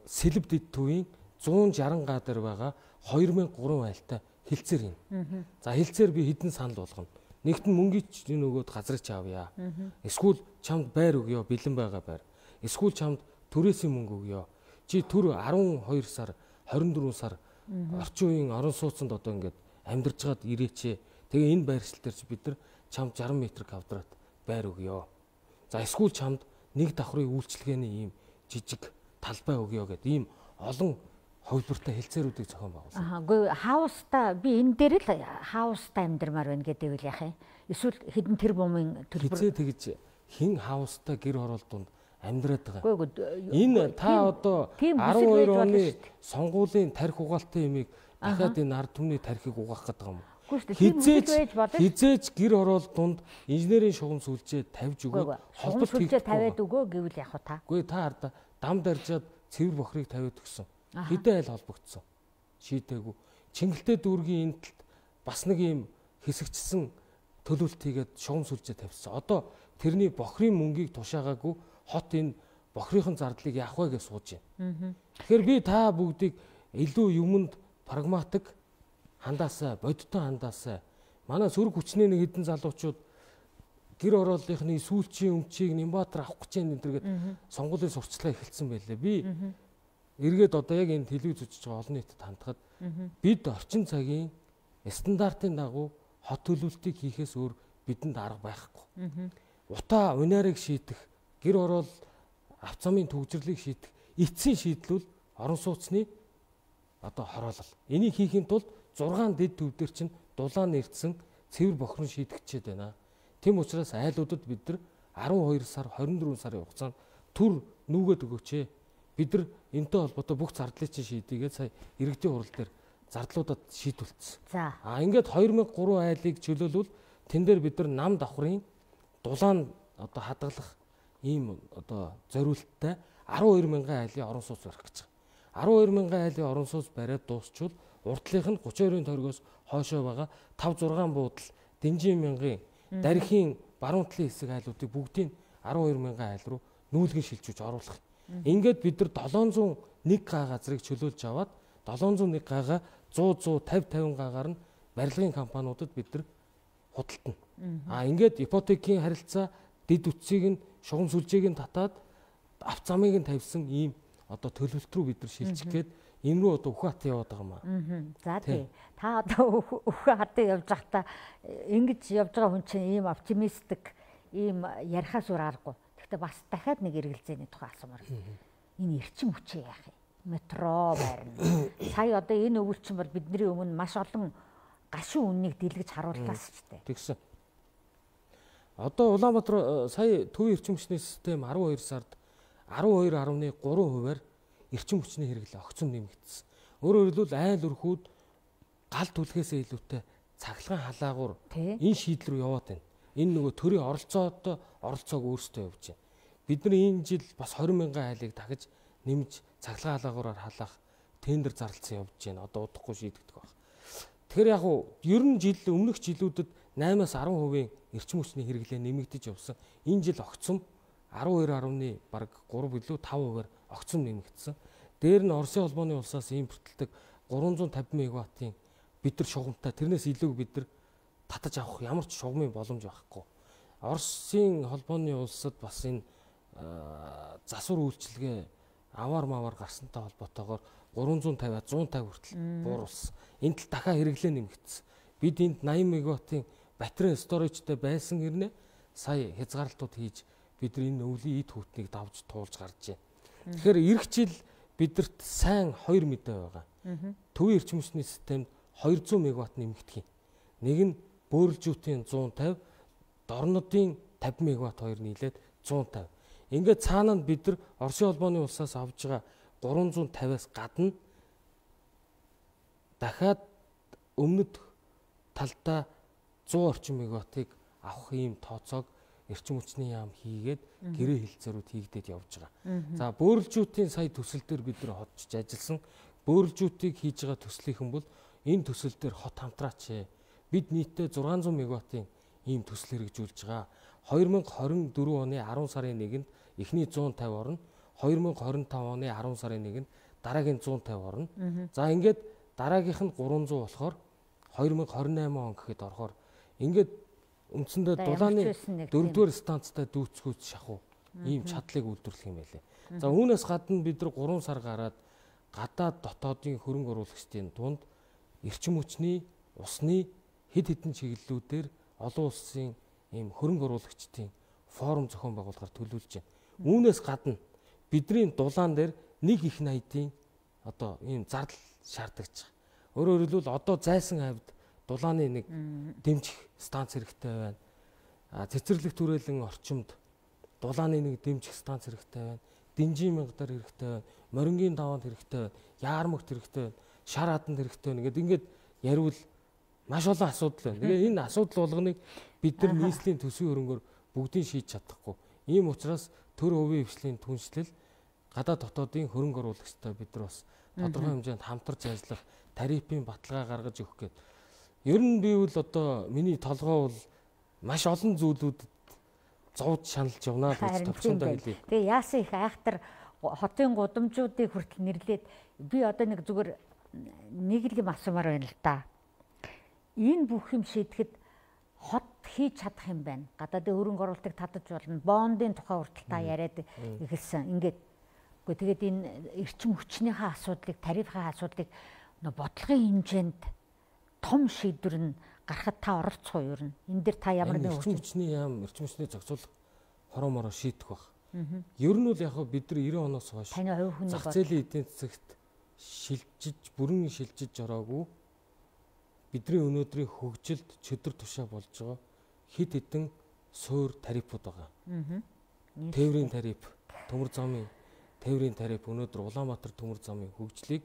сэлб дэд төвийн зуун шаран га дээр байгаа хоёр мянга гурван айлтай хилцээр юм. За хилцээр би хэдэн санал болгоно. Нэгт нь мөнгөч энэ өгөөд газрыг ч авъя. Эсвэл чамд байр өгье, бэлэн байгаа байр. Эсвэл чамд төрөөсийн мөнгө өгье. Чи төр арван хоёр сар, хорин дөрвөн сар орчин үеийн орон сууцнд одоо ингээд амьдарч гад ирээч. Тэгээ энэ байршил дээр чи бид нар чамд шаран метр квадрат байр өгье. За эсвэл чамд нэг давхрын үйлчлэгээний ийм жижиг талбай өгье гэдэг ийм олон хувилбартай хэлцээрүүдийг зохион байгуулсан. Аа, үгүй хауста би энэ дээр л хауста амьдрмаар байна гэдэг үл яах юм. Эсвэл хэдэн тэр бумын төлбөр хизээ тэгж хин хауста гэр хороол дунд амьдраад байгаа. Үгүй энэ та одоо арван хоёр оны сонгуулийн тарих угаалтай юмыг дахиад энэ ард түмний тарихыг угаах гэдэг юм. Хизээж хизээж гэр хороол дунд инженерийн шугам сүлжээ тавьж өгөө холболт сүлжээ тавиад өгөө гэвэл яах вэ та? Үгүй та арда дам даржаад цэвэр бохрыг тавиад өгсөн. Хэдэн айл холбогдсон. Шийдээгүй. Чингэлтэй дүүргийн энэ талд бас нэг юм хэсэгчсэн төлөвлөлт хийгээд шугам сүлжээ тавьсан. Одоо тэрний бохрын мөнгийг тушаагаагүй хот энэ бохрынхон зардлыг яах вэ гэж сууж байна. Тэгэхээр би та бүгдийг илүү юмд прагматик хандаасаа, бодиттой хандаасаа. Манай сөрөг хүчний нэг хэдэн залуучууд гэр орооллынхны сүүлчийн өмчийг Нямбатар авах гэж энэ гэдэг сонгуулийн сурчлага эхэлсэн байлээ. Би эргээд одоо яг энэ телевиз үзэж байгаа олон нийтэд хандхад бид орчин цагийн стандартын дагуу хот төлөвлөлтийг хийхээс өөр бидэнд арга байхгүй. Утаа унаарыг шийдэх, гэр орол авц замын төгжрлийг шийдэх эцсийн шийдлүүл орон сууцны одоо хороолол. Энийг хийхин тулд зургаан дэд төв дээр чинь дулаан нэрдсэн цэвэр бохрон шийдэгчээд байна. Тэм учраас айлуудад бид нар арван хоёр сар, хорин дөрвөн сарын хугацаанд түр нүгэд өгөөч. Бид нар энэтэй холбоотой бүх зардлыг чинь шийдийгээд сая иргэдийн хурал дээр зардлуудад шийдвүлцсэн. За. А ингээд хоёр мянга гурван айлыг чөлөөлвөл тэн дээр бид нар нам давхрын дулаан одоо хадгалах ийм одоо зориулттай арван хоёр мянган айлын орон сууц барих гэж байгаа. арван хоёр мянган айлын орон сууц бариад дуусчвал урдлынх нь гурван хоёрын торгоос хойшоо байгаа тавь зургаан буудал дэнжин мянган дархийн баруун талын хэсэг айлуудыг бүгдийг арван хоёр мянган айл руу нүүлгэн шилжүүлж оруулах. Ингээд бид нар долоон зуун нэг га газрыг чөлөөлж аваад долоон зуун нэг га зуун зуун тавь тавин гагаар нь барилгын компаниудад бид нар худалдана. А ингээд ипотекийн харилцаа дэд үтсийг нь шугам сүлжээг нь татаад авц замыг нь тавьсан ийм одоо төлөвлөлт рүү бид нар шилжих гээд энэ рүү одоо Үхэн хатан яваад байгаа юм аа. За тий. Та одоо Үхэн хатан явж байхдаа ингэж явж байгаа хүн чинь ийм оптимистик ийм ярихаас өөр аргагүй. Гэхдээ бас дахиад нэг эргэлзээний тухай асуумаар. Энэ эрчим хүчээ яах юм? Метро байрна. Сая одоо энэ өвөлчин бол бидний өмнө маш олон гашуун үннийг дэлгэж харууллаас ч дээ. Тэгсэн. Одоо Улаанбаатар сая төвийн эрчим хүчний систем арван хоёр сард арван хоёр гаруй гурван хувиар эрчим хүчний хэрэглээ огцом нэмэгдсэн. Өөрөөр хэлбэл айл өрхүүд гал түлхээсээ илүүтэй цахилгаан халаагуур энэ шийдэл рүү яваад байна. Энэ нөгөө төрийн оролцоотой оролцоог өөрсдөө явуулж байна. Бид нар энэ жил бас двадцать мянган айлыг дахиж нэмж цахилгаан халаагуураар халаах тендер зарлалсан явж байна. Одоо удахгүй шийдэгдэх баг. Тэгэхээр яг уу ер нь жил өмнөх жилүүдэд наймаас арван хувийн эрчим хүчний хэрэглээ нэмэгдэж явсан. Энэ жил огцом арван хоёр гаруй бараг гурав билүү тав хувиар огцом нэмэгдсэн. Дээр нь Оросын холбооны улсаас импортлдог гурван зуун тавин мегаваттын бид нар шугамтай тэрнээс илүү бид нар татаж авах ямар ч шугамын боломж байхгүй. Оросын холбооны улсад бас энэ засвар үйлчилгээ аваар маваар гарсантай холбоотойгоор гурван зуун тавиа зуун тавь хүртэл бууруулсан. Энд л дахиад хэрэглээ нэмэгдсэн. Бид энд найман мегаваттын батарей сторижтэй байсан хэрнээ сая хязгаарлалтууд хийж бид энэ өвлийн эд хүүтнийг давж туулж гарч байна. Тэгэхээр эх жил бидэрт сайн хоёр мэдээ байгаа. Төвийн эрчим хүчний системд хоёр зуун мегаватт нэмэгдэх юм. Нэг нь бөөрөлжүүдийн зуун тавь, дорнодын тавь мегаватт хоёр нийлээд зуун тавь. Ингээд цаана нь бид нар Оросын холбооны улсаас авж байгаа гурван зуун тавиас гадна дахиад өмнөд талдаа зуун орчим мегаваттыг авах ийм тооцоог эрчим хүчний яам хийгээд гэрээ хилцээрүүд хийгдээд явж байгаа. За бөөрөлжүүдийн сая төсөл дээр бид нар хотж ажилласан. Бөөрөлжүүдийг хийж байгаа төслийнхэн бол энэ төсөл дээр хот хамтраач. Бид нийтдээ зургаан зуун мегаваттын ийм төсөл хэрэгжүүлж байгаа. хоёр мянга хорин дөрөв оны арван сарын нэгэнд эхний зуун тавь орно. хоёр мянга хорин тавь оны арван сарын нэгэнд дараагийн зуун тавь орно. За ингээд дараагийнх нь гурван зуун болохоор хоёр мянга хорин найман он гэхэд орохоор ингээд үндсэндээ дулааны дөрөвдүгээр станцтай дүүцгүүц шахуу ийм чадлыг үйлдвэрлэх юм байлээ. За үүнээс гадна бид нар гурван сар гараад гадаад дотоодын хөрөнгө оруулагчдын дунд эрчим хүчний, усны хэд хэдэн чиглэлүүдээр олон улсын ийм хөрөнгө оруулагчдын форум зохион байгуулахаар төлөвлөж байна. Үүнээс гадна бидний дулаан дээр нэг их найдын одоо ийм зардал шаардлагач байгаа. Өөрөөр хэлбэл одоо зайсан хавьд дулааны нэг дэмжих станц хэрэгтэй байна. А цэцэрлэг түрээлэн орчимд дулааны нэг дэмжих станц хэрэгтэй байна. Динжин мянгадар хэрэгтэй байна. Морингийн даваанд хэрэгтэй байна. Яармагт хэрэгтэй байна. Шар хаданд хэрэгтэй байна. Ингээд ингээд яривал маш олон асуудал байна. Тэгээ энэ асуудал болгоныг бид нар нийслэлийн төсвийн хөрөнгөөр бүгдийг шийдэж чадахгүй. Ийм учраас төр хувийн хвшлийн түншлэл гадаад дотоодын хөрөнгө оруулагчтай бид нар бас тодорхой хэмжээнд хамтарч ажиллах, тарифын баталгаа гаргаж өгөх гээд. Ер нь би бол одоо миний толгой бол маш олон зүйлүүдэд зовж шаналж явнаа гэж товчондоо хэлье. Тэгээ яасан их айхтар хотын гудамжуудыг хүртэл нэрлээд би одоо нэг зүгээр нэг л юм асуумаар байна л да. Энэ бүх юм шийдэхэд хот хийж чадах юм байна. Гадаадын хөрөнгө оруулалтыг татаж болно. Бондын тухай хүртэл та яриад эхэлсэн. Ингээд үгүй тэгээд энэ эрчим хүчнийхээ асуудлыг, тарифын асуудлыг бодлогын хэмжээнд том шийдвэр нь гарахад та оролцох уу ер нь? Энэ дээр та ямар нэг эрчим хүчний яам, эрчим хүчний зохицуулах хороо мороо шийдэх баг. Ер нь бол яг бид нар девяносто оноос хойш зах зээлийн эдийн засагт шилжиж, бүрэн шилжиж ороогүй бидний өнөөдрийн хөгжилд чөдөр тушаа болж байгаа хэд хэдэн суур тарифууд байгаа. Тээврийн тариф, төмөр замын тээврийн тариф өнөөдөр Улаанбаатар төмөр замын хөгжлийг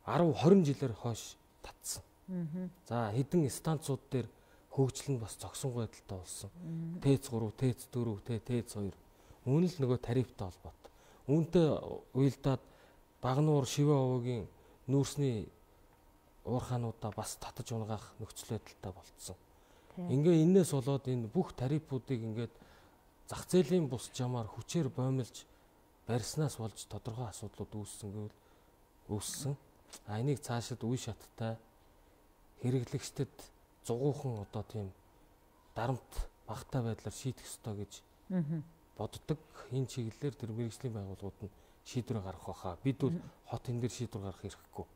арав хорин жилээр хойш татсан. За хэдэн станцууд дээр хөгжил нь бас зогсонгүй байдалтай болсон. ТЭЦ три, ТЭЦ четыре, ТЭЦ two. Үүн л нөгөө тарифтай холбоотой. Үүнтэй уялдаад Багнуур, Шивэ овоогийн нүүрсний уурхаануудаа бас татаж унгаах нөхцөл байдалтай болцсон. Ингээ энээс болоод энэ бүх тарифуудыг ингээд зах зээлийн бус жамаар хүчээр боомлж барьснаас болж тодорхой асуудлууд үүссэн гэвэл үүссэн. А энийг цаашид үе шаттай хэрэглэгчдэд зугуухан одоо тийм дарамт багтаа байдлаар шийдэх ёстой гэж боддог. Энэ чиглэлээр тэр мэргэжлийн байгууллагууд нь шийдвэр гаргах байхаа. Бид бол хот энэ дээр шийдвэр гаргах хэрэггүй.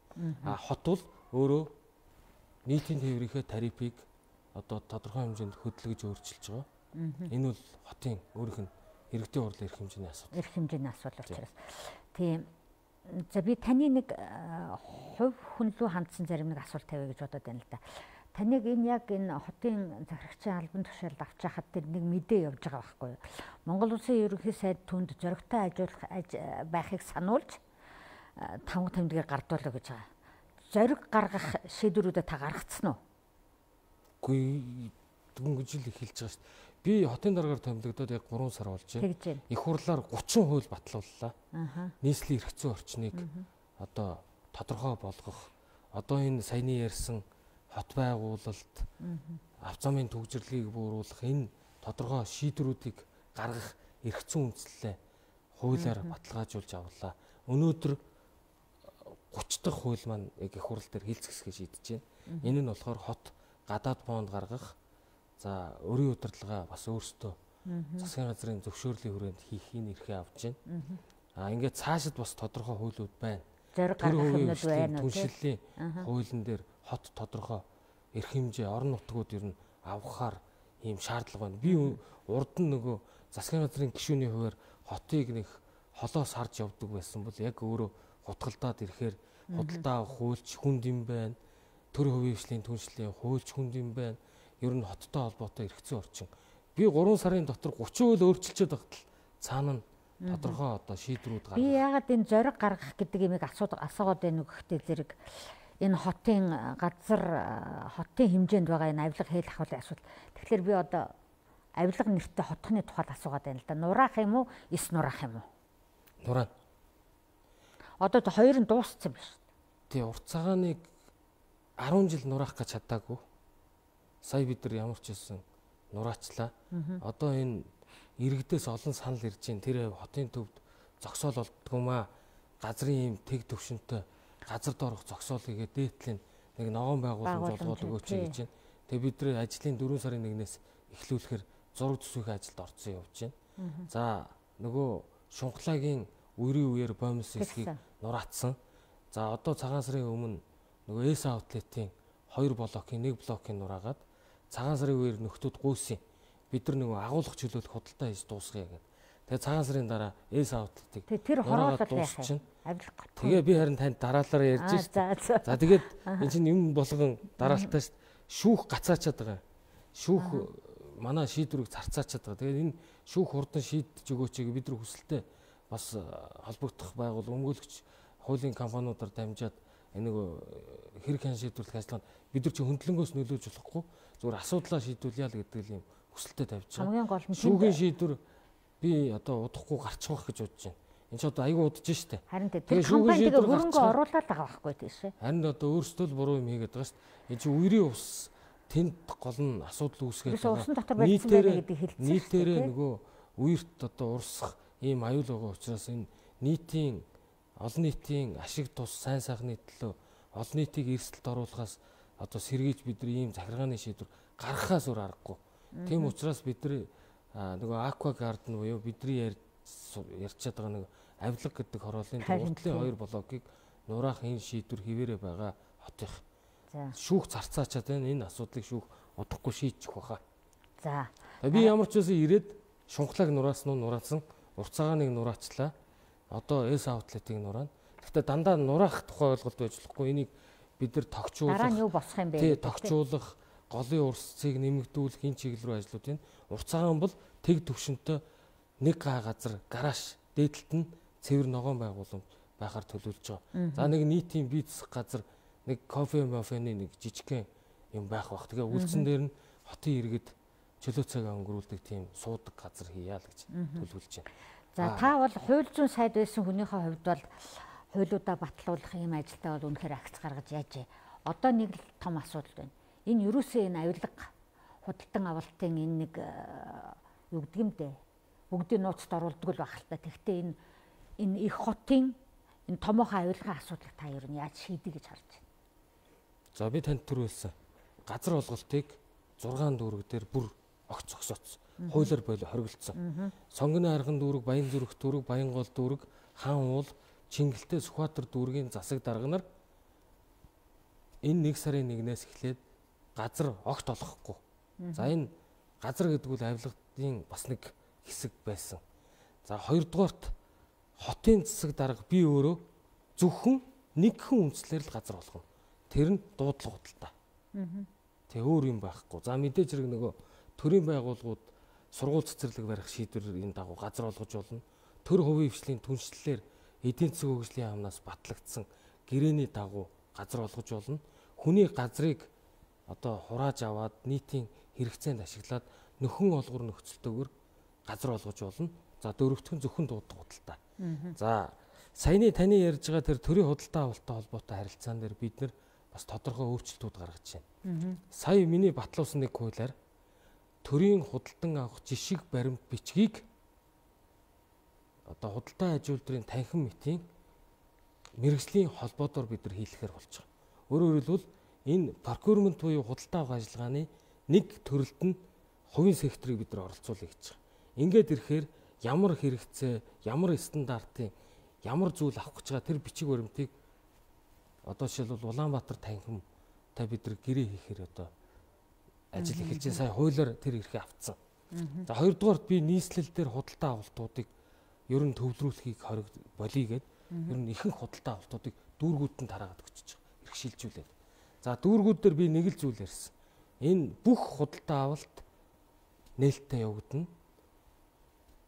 А хот бол өөрөө нийтийн тээврийнхээ тарифыг одоо тодорхой хэмжээнд хөдөлгөж өөрчилж байгаа. Энэ бол хотын өөрийнх нь иргэдийн хурлын эрх хэмжээний асуудал. Эрх хэмжээний асуудал учраас. Тийм. За би таны нэг хувь хүн рүү хандсан зарим нэг асуулт тавья гэж бодоод байна л да. Таныг энэ яг энэ хотын захирагчийн албан тушаалд авч яхад тэр нэг мэдээ явж байгаа байхгүй юу? Монгол Улсын ерөнхий сайд түнд зоригтой ажиллах байхыг сануулж таван тэмдгээр гардуулаа гэж байгаа. Зориг гаргах шийдвэрүүдэд та гаргацсан уу? Үгүй дөнгөж л эхэлж байгаа шүү дээ. Би хотын дараагаар томилогдоод яг гурван сар болж байна. Их хурлаар гучин хууль батлууллаа. Нийслэлийн эрх зүйн орчныг одоо тодорхой болгох, одоо энэ саяны ярьсан хот байгуулалт, авто замын төвжирлийг бууруулах энэ тодорхой шийдвэрүүдийг гаргах эрх зүйн үндслэлээ хуулиар баталгаажуулж авлаа. Өнөөдөр гуч дахь хууль маань яг их хурл дээр хилцэсгээ шийдэж байна. Энэ нь болохоор хот гадаад бонд гаргах, за өрийн удирдлага бас өөрсдөө засгийн газрын зөвшөөрлийн хүрээнд хийх энэ эрхээ авч байна. А ингээд цаашид бас тодорхой хуулиуд байна. зориг гаргах юмнууд байна уу? Түншлэлийн хуулийн дээр хот тодорхой эрх хэмжээ орон нутгууд ер нь авахаар ийм шаардлага байна. Би урд нь нөгөө засгийн газрын гишүүний хувьар хотыг нэг холоос харж явдаг байсан бол яг өөрөө хутгалдаад ирэхээр худалдаа авах хуульч хүнд юм байна. Төр хувийн хвшлийн түншлэлийн хуульч хүнд юм байна. Ер нь хоттой холбоотой эрхцэн орчин. Би гурван сарын дотор гучин үйл өөрчилчихэд багтал цаана нь тодорхой одоо шийдвэрүүд гаргах. Би яагаад энэ зориг гаргах гэдэг юмыг асуудаг асуугаад байна уу гэхдээ зэрэг энэ хотын газар хотын хэмжээнд байгаа энэ авилга хэл ахуулын асуудал. Тэгэхээр би одоо авилга нэртэй хотхны тухайд асуугаад байна л да. Нураах юм уу? Эс нураах юм уу? Нураа. Одоо тэ хоёр нь дууссан биш. Тий, урт цагааныг арван жил нураах гэж чадаагүй. Сая бид нар ямар ч хэлсэн нураачлаа. Одоо энэ иргэдээс олон санал ирж байна. Тэр хотын төвд зогсоол болдгоомаа газрын юм тэг төвшөнтэй газар доорх зогсоол хийгээд дээдлийн нэг ногоон байгууллагын жолгоол өгөөч гэж байна. Тэгээ бид нар ажлын дөрвөн сарын нэгнээс эхлүүлэхээр зураг төсвийн ажилд орсон явж байна. За нөгөө Шунхлагийн үерийн үеэр бомс хэсгийг нураацсан. За одоо цагаан сарын өмнө нөгөө эс аутлетийн хоёр блокийн нэг блокийн нураагаад цагаан сарын үеэр нөхдүүд гүйсэн. Бид нар нөгөө агуулгах чөлөөлөх худалдаа хийж дуусгая гэдэг. Тэгээ цагаан сарын дараа эс аутлетыг тэр хороолол яах юм? Тэгээ би харин танд дараалалаар ярьж шээ. За тэгээд энэ чинь юм болгон дараалтаа шүү. Шүүх гацаачаад байгаа. Шүүх манай шийдвэрийг зарцаачаад байгаа. Тэгээд энэ шүүх хурдан шийдэж өгөөч гэж бид нар хүсэлтэй бас холбогдох байгуул өмгөөлөгч хуулийн компаниудаар дамжаад энэ нөгөө хэрэг хэн шийдвэрлэх ажиллагаанд бид нар чи хөндлөнгөөс нөлөөж болохгүй зүгээр асуудлаа шийдүүлъя л гэдэг юм хүсэлтэй тавьж байгаа. Хамгийн гол нь шүүхийн шийдвэр би одоо удахгүй гарчих واخ гэж бодож байна. Энд ч одоо аягүй удаж штэ. Харин тэр компаниг хөрөнгө оруулаад байгаа байхгүй тийш. Харин одоо өөрсдөө л буруу юм хийгээд байгаа штэ. Энэ чи үерийн ус тэнд гол нь асуудал үүсгээд байгаа. Нийтээрээ нөгөө үерт одоо урсах ийм аюул байгаа учраас энэ нийтийн олон нийтийн ашиг тус сайн сайхны төлөө олон нийтийг эрсдэлд оруулахаас одоо сэргийж бид нар ийм захиргааны шийдвэр гаргахаас өөр аргагүй. Тийм учраас бид нар нөгөө аква гарден буюу бидний ярьчаад байгаа нэг авилга гэдэг хорооллын уртлын хоёр блокийг нураах энэ шийдвэр хിവэрэ байгаа хотынх. Шүүх зарцаачаад байна. Энэ асуудлыг шүүх удахгүй шийдчих واخа. За. Би ямар ч үсэн ирээд Шунхлаг нураасан нь нураасан, урт цагааныг нураачлаа. Одоо эс аутлетыг нураана. Гэхдээ дандаа нураах тухай ойлголт байж болохгүй. Энийг бид нар тогтчуулах. Дараа нь юу босох юм бэ? Тий, тогтчуулах, голын урсцыг нэмэгдүүлэх энэ чиглэл рүү ажлууд байна. Урт цагаан бол тэг төвшөнтэй нэг га газар гараж дээдлэлт нь цэвэр ногоон байгууламж байхаар төлөвлөж байгаа. За нэг нийтийн бие засах газар нэг кофе мофены нэг жижигхэн юм байх бах. Тэгээ үлдсэн дээр нь хотын иргэд чөлөө цагаа өнгөрүүлдэг тийм суудаг газар хийя л гэж төлөвлөж байна. За та бол хууль зүйн сайд байсан хүнийхээ хувьд бол хуулиудаа батлуулах юм ажилдаа бол үнэхээр акц гаргаж яажээ. Одоо нэг л том асуудал байна. Энэ ерөөсөө энэ авилга худалдан авалтын энэ нэг юу гэдэг юм бэ? Бүгдийг нууцд оруулдаг л байх л та. Тэгвэл энэ энэ их хотын энэ томоохон авилгын асуудлыг та ер нь яаж шийдэ гэж харж байна? За би танд түрүүлсэн. Газар олголтыг зургаан дүүрэг дээр бүр огт зогсооцсон. Хуулиар болоо хоригдсон. Сонгоны арган дүүрэг, Баян зүрх дүүрэг, Баян гол дүүрэг, Хаан уул, Чингэлтэй Сүхбаатар дүүргийн засаг дарга нар энэ нэг сарын нэгнээс эхлээд газар огт олохгүй. За энэ газар гэдэг нь авилгын бас нэг хэсэг байсан. За хоёрдугаарт хотын засаг дарга би өөрөө зөвхөн нэгхэн үндслээр л газар олгоно. Тэр нь дуудлага худалдаа. Тэг өөр юм байхгүй. За мэдээж хэрэг нөгөө төрийн байгууллагууд сургууль цэцэрлэг барих шийдвэрийн дагуу газар олгож болно. Төр хувийн хвшлийн түншлэлээр эдийн засгийн хөгжлийн яамнаас батлагдсан гэрээний дагуу газар олгож болно. Хүний газрыг одоо хурааж аваад нийтийн хэрэгцээнд ашиглаад нөхөн олгор нөхцөлтөөр газар олгож болно. За дөрөвтгөн зөвхөн дуудлага худалдаа. За саяны таны ярьж байгаа тэр төрийн худалдаа авалттай холбоотой харилцаан дээр бид нэр бас тодорхой өөрчлөлтүүд гаргаж байна. Сая миний батлуулсан нэг хуулиар төрийн худалдан авах жишг баримт бичгийг одоо худалдаа ажилуулдрын танхим мэтийн мэргэжлийн холбоодоор бид нар хийлэхээр болж байгаа. Өөрөөр хэлбэл энэ procurement буюу худалдаа авах ажиллагааны нэг төрөлд нь хувийн секторыг бид нар оролцуулъя гэж байгаа. Ингээд ирэхээр ямар хэрэгцээ, ямар стандартын ямар зүйл авах гэж байгаа тэр бичиг баримтыг одоо жишээлбэл Улаанбаатар танхимтай бид нар гэрээ хийхээр одоо ажил эхэлж сая хуулиар тэр эрхээ авцсан. За хоёрдугаарт би нийслэл дээр худалдаа авалтуудыг ер нь төвлөрүүлэхийг хориг болигээд ер нь ихэнх худалдаа авалтуудыг дүүргүүд нь тараагаад өгч байгаа. Эрх шилжүүлээд. За дүүргүүд дээр би нэг л зүйл ярьсан. Энэ бүх худалдаа авалт нээлттэй явагдана.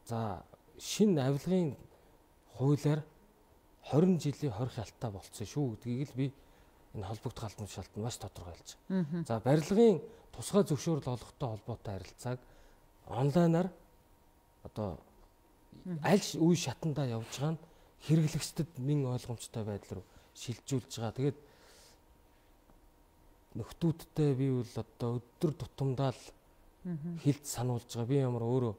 За шинэ авилгын хуулиар хорин жилийн хорих ялтаа болцсон шүү гэдгийг л би энэ холбогдох албан тушаалтанд маш тодорхойлж байгаа. За барилгын тусгай зөвшөөрөл олгохтой холбоотой харилцааг онлайнаар одоо аль үе шатандаа явж байгаа нь хэрэглэгчдэд нэн ойлгомжтой байдал руу шилжүүлж байгаа. Тэгээд нөхдүүдтэй би бол одоо өдөр тутамдаа л хэлд сануулж байгаа. Би ямар өөрөө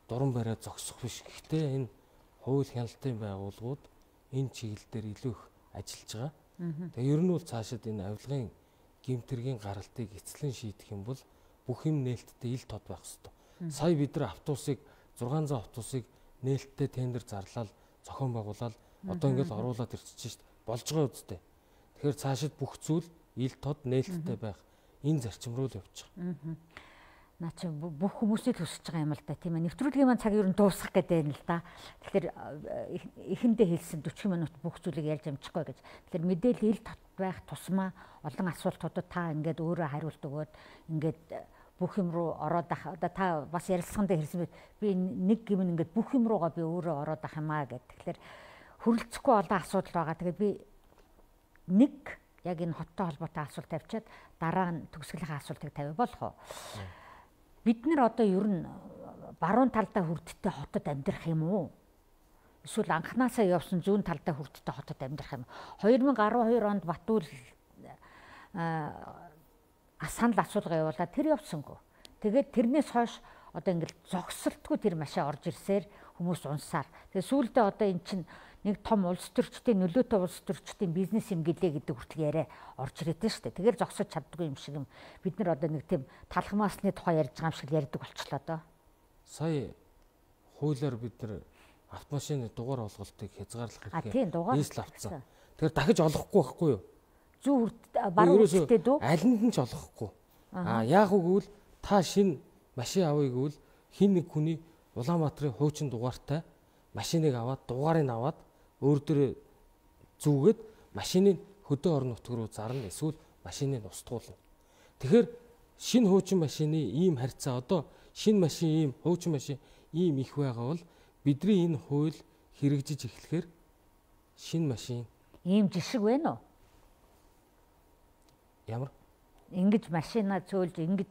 дуран бариад зогсох биш. Гэхдээ энэ хууль хяналтын байгууллагууд энэ чиглэл дээр илүү их ажиллаж байгаа. Тэгээ ер нь бол цаашид энэ авилгын гэмтэргийн гаралтыг эцлэн шийдэх юм бол бүх юм нээлттэй ил тод байх хэрэгтэй. Сая бид нар автобусыг зургаан зуун автобусыг нээлттэй тендер зарлал зохион байгуулаад одоо ингээд оруулаад ирчихэж шít болж байгаа үстэй. Тэгэхээр цаашид бүх зүйл ил тод нээлттэй байх энэ зарчим руу л явж байгаа. Наа чи бүх хүмүүсийг хүсэж байгаа юм л да тийм ээ. Нэвтрүүлгийн маань цаг ер нь дуусах гэдэг юм л да. Тэгэхээр эхэндээ хэлсэн дөрвөн минут бүх зүйлийг ярьж амжихгүй гэж. Тэгэхээр мэдээлэл ил тод байх тусмаа олон асуултуудад та ингээд өөрөө хариулт өгөөд ингээд бүх юм руу ороод ах. Одоо та бас ярилцлаганд хэлсэн мэт би нэг гимн ингээд бүх юм руугаа би өөрөө ороод ах юм аа гэд. Тэгэхээр хөрөлцөхгүй олон асуудал байгаа. Тэгээд би нэг яг энэ хоттой холбоотой асуулт тавьчаад дараа нь төгсгөлийн асуултыг тавь болох уу? Бид нар одоо ер нь баруун талдаа хүрдтэй хотод амьдрах юм уу? Эсвэл анханасаа явсан зүүн талдаа хүрдтэй хотод амьдрах юм уу? хоёр мянга арван хоёр онд Батүл санал асуулга явуулаад тэр явсангүй. Тэгээд тэрнээс хойш одоо ингээл зогсолтгүй тэр машин орж ирсээр хүмүүс унсаар. Тэгээд сүүлдээ одоо эн чинь нэг том улс төрчдийн нөлөөтэй улс төрчдийн бизнес юм гэлээ гэдэг хүртэл яриа орж ирээдээ шүү дээ. Тэгэхээр зогсож чаддгүй юм шиг юм. Бид нар одоо нэг тийм талхамаасны тухай ярьж байгаа юм шиг ярьдаг болчлоо доо. Сая хуулиар бид нар автомашины дугаар олголтыг хязгаарлах хэрэгтэй нийслэл авцсан. Тэгэхээр дахиж олохгүй байхгүй юу? Зүүн баруун хүртээ дүү? Алинд нь ч олохгүй. Аа яах үгүй та шинэ машин авъя гэвэл хин нэг хүний Улаанбаатарын хуучин дугаартай машиныг аваад дугаарыг аваад өөр дөрөө зүгээд машиныг хөдөө орон нутг руу зарна эсвэл машиныг устгуулна. Тэгэхээр шинэ хуучин машины ийм харьцаа одоо шинэ машин ийм хуучин машин ийм их байгаа бол бидний энэ хууль хэрэгжиж эхлэхээр шинэ машин ийм жишг байна уу? Ямар? Ингэж машина цөөлж ингэж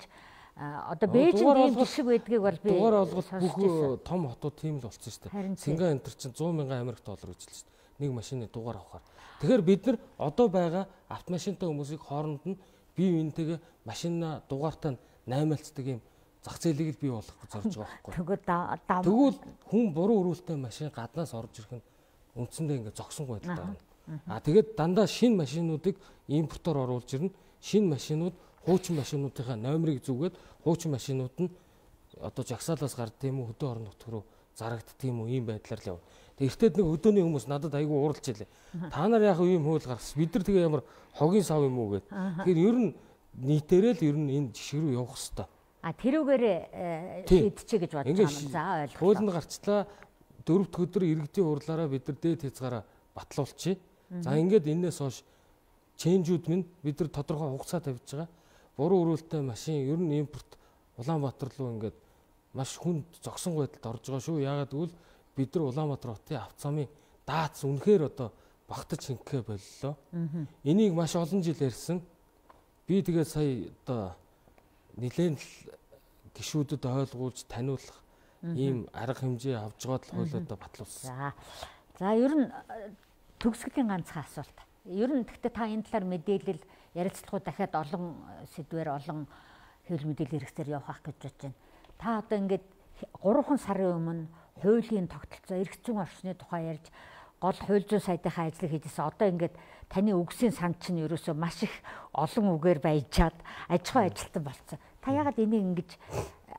одоо Бээжинд ийм жишг байдгийг бол би дугаар олголт бүх том хотууд тийм л болсон шүү дээ. Сингапур энэ чинь сто мянган Америк доллар гэж л шүү дээ. Нэг машины дугаар авахаар. Тэгэхээр бид нар одоо байгаа автомашинтай хүмүүсийг хооронд нь бие биентэйгээ машина дугаартаа наймаалцдаг юм зах зээлийг л бий болгох гэж зорж байгаа байхгүй. Тэгвэл хүн буруу өрүүлтэй машин гаднаас орж ирэх нь үндсэндээ ингээд зогсонгүй байдал гарна. А тэгээд дандаа шинэ машинуудыг импортоор оруулж ирнэ. Шинэ машинууд хуучин машинуудынхаа номерыг зүгээд хуучин машинууд нь одоо жагсаалаас гард тийм үү хөдөө орон нутг руу зарагддаг тийм үү ийм байдлаар л яв. Тэг эртэд нэг өдөөний хүмүүс надад айгүй ууралж илээ. Та нар яг ийм хууль гаргасан. Бид нар тэгээ ямар хогийн сав юм уу гэд. Тэгэхээр ер нь нийтээрээ л ер нь энэ жишг рүү явах хэвээр. А тэрүүгээрээ шийдчихэ гэж бодож байгаа юм. За ойлголоо. Хуулинд гарчлаа дөрөвд өдөр иргэдийн хурлаараа бид нар дээд хязгаараа батлуулчихъя. За ингээд энэс хойш ченжүүд минь бид нар тодорхой хугацаа тавьж байгаа. Буруу өрүүлтэй машин ер нь импорт Улаанбаатар руу ингээд маш хүнд зогсон байдалд орж байгаа шүү. Яагаад гэвэл бид нар Улаанбаатар хотын автозамын даац үнэхээр одоо багтаж шингэхэ боллоо. Энийг маш олон жил ярьсан. Би тэгээд сая одоо нэлээд гишүүдэд ойлгуулж таниулах ийм арга хэмжээ авч байгаа л хуулиудаа батлуулсан. За. За ер нь төгсгөлийн ганцхан асуулт. Ер нь гэхдээ та энэ талаар мэдээлэл ярилцлагууд дахиад олон сэдвээр олон хэвлэл мэдээлэл хэрэгсээр явах гэж бодож байна. Та одоо ингээд гурван сарын өмнө хуулийн тогтолцоо эрх зүйн орчны тухай ярьж гол хууль зүйн сайдынхаа ажлыг хийжсэн. Одоо ингээд таны үгсийн сан чинь ерөөсөө маш их олон үгээр баяжаад аж ахуй ажилтан болцсон. Та яагаад энийг ингэж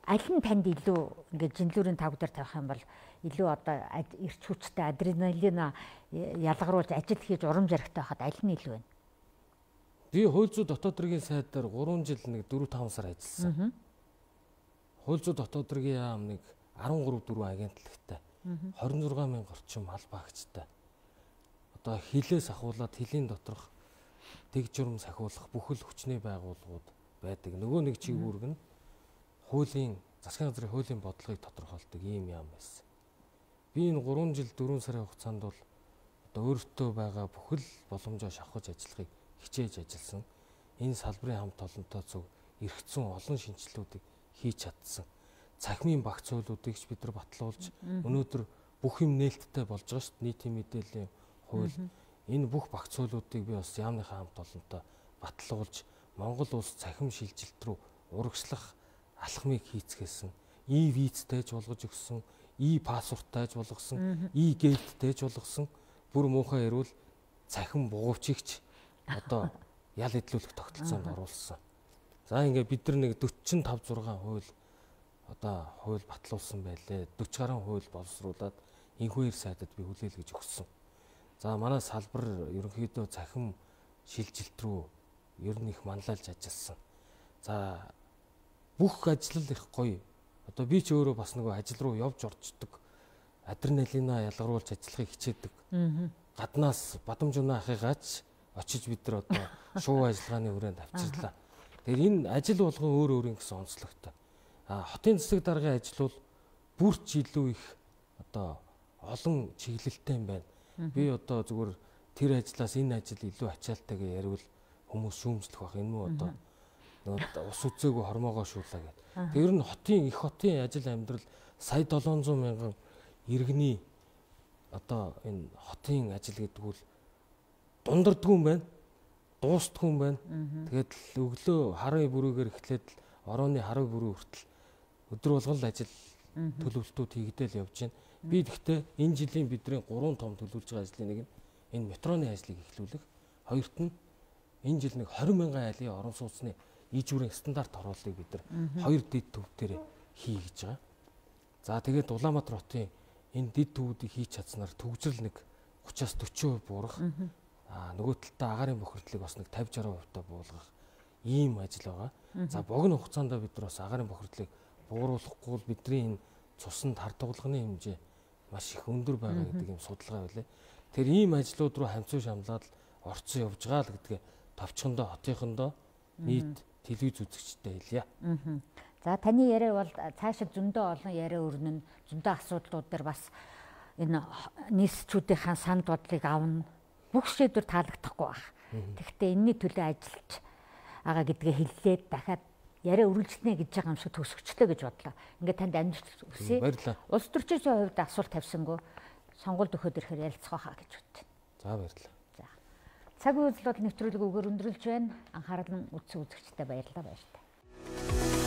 аль нь танд илүү ингээд жинлүүрийн тавг дээр тавих юм бол илүү одоо эрч хүчтэй адреналин ялгаруулж ажил хийж урам зоригтой байхад аль нь илүү вэ? Би хууль зүйн дотоод хэргийн сайд дээр гурван жил нэг дөрвөн таван сар ажилласан. Хууль зүйн дотоод хэргийн яам нэг арван гурав дөрвөн агентлагтай хорин зургаан мянга орчим албаа агчтай. Одоо хилээс ахуулаад хилийн доторх тэг журам сахиулах бүхэл хүчний байгууллагууд байдаг. Нөгөө нэг чигүүрг нь хуулийн засгийн газрын хуулийн бодлогыг тодорхойлдог ийм яам байсан. Би энэ гурван жил дөрвөн сарын хугацаанд бол одоо өөртөө байгаа бүхэл боломжоо шавхаж ажиллахыг хичээж ажилласан. Энэ салбарын хамт олонтой зөв эргэцэн олон шинжилгэүүдийг хийж чадсан. Цахимын багц хуулиудыг ч бид нар батлуулж өнөөдөр бүх юм нээлттэй болж байгаа шүү дээ. Нийтийн мэдээллийн хууль. Энэ бүх багц хуулиудыг би бас яамныхаа хамт олонтой батлуулж Монгол улс цахим шилжилт рүү урагшлах алхмыг хийцгээсэн. И визтэйж болгож өгсөн, и пассворттэйж болгосон, и гээлттэйж болгосон. Бүр муухай ярил цахим бугуучигч одоо ял идлүүлэх тогтолцоонд оруулсан. За ингээд бид нар нэг дөрвөн таван зургаан хууль одоо хууль батлуулсан байлээ. дөрвөн гаруй хууль боловсруулад энэхүү сайдад би хүлээлгэж өгсөн. За манай салбар ерөнхийдөө цахим шилжилт рүү ер нь их манлайлж ажилласан. За бүх ажил их гоё. Одоо би ч өөрөө бас нөгөө ажил руу явж орчдөг. Адреналина ялгаруулж ажиллахыг хичээдэг. Гаднаас бадамж унаа ахыгаач очиж бид нар одоо шуу ажиллагааны хүрээнд авчирлаа. Тэгэхээр энэ ажил болгон өөр өөр гэсэн онцлогтой. А хотын засаг даргын ажил бол бүрч илүү их одоо олон чиглэлтэй юм байна. Би одоо зүгээр тэр ажлаас энэ ажил илүү ачаалтайг яривал хүмүүс шүүмжлэх байх. Энэ муу одоо нөгөө ус үзээгүй хормоогоо шуулаа гэдэг. Тэр нь хотын их хотын ажил амьдрал сая долоон зуун мянган иргэний одоо энэ хотын ажил гэдэг бол дундардгүй юм байна. Дуустгүй юм байна. Тэгээд өглөө харын бүрүүгээр эхлээд орооны харын бүрүү хүртэл өдөр болгон л ажил төлөвлөлтүүд хийгдэл явж байна. Би гэхдээ энэ жилийн бидний гурван том төлөвлөж байгаа ажлын нэг нь энэ метроны ажлыг эхлүүлэх. Хоёрт нь энэ жил нэг двадцать мянган айлын орон сууцны ийжүүрийн стандарт оруулалтыг бид нар хоёр дэд төв дээр хий гэж байгаа. За тэгээд Улаанбаатар хотын энэ дэд төвүүдийг хийж чадсанаар төгжрөл нэг гураваас дөрвөн хувь буурах. Аа нөгөө талдаа агаарын бохирдлыг бас нэг пঞ্চাশ сixty хувьтай буулгах ийм ажил байгаа. За богино хугацаанд бид нар бас агаарын бохирдлыг бууруулахгүй бол бидний энэ цуснд хар дугалганы хэмжээ маш их өндөр байгаа гэдэг юм судалгаа байлаа. Тэр ийм ажлууд руу хамцуу шамлаад орцсон явж байгаа л гэдгээ товчхондоо хотынхондоо нийт телевиз үзэгчтэй хэлье. За таны яриа бол цаашид зөндөө олон яриа өрнөн, зөндөө асуудлууд дээр бас энэ нийсчүүдийн санд бодлыг авна. Бүх шийдвэр таалагдахгүй байх. Тэгэхдээ энэний төлөө ажиллаж байгаа гэдгээ хэллээд дахиад яриа үргэлжлэнэ гэж байгаа юм шиг төсөгчлөө гэж бодлоо. Ингээд танд амжилт хүсье. Улс төрчийн хувьд асуулт тавьсангүй сонгуульд өгөхөд ирэхээр ярилцах хаа гэж бодтыг. За баярлалаа. За. Цаг үйл бол нэвтрүүлэг өгөр өндөрлж байна. Анхаарал нь үзсэн үзэгчдэд баярлалаа баяртай.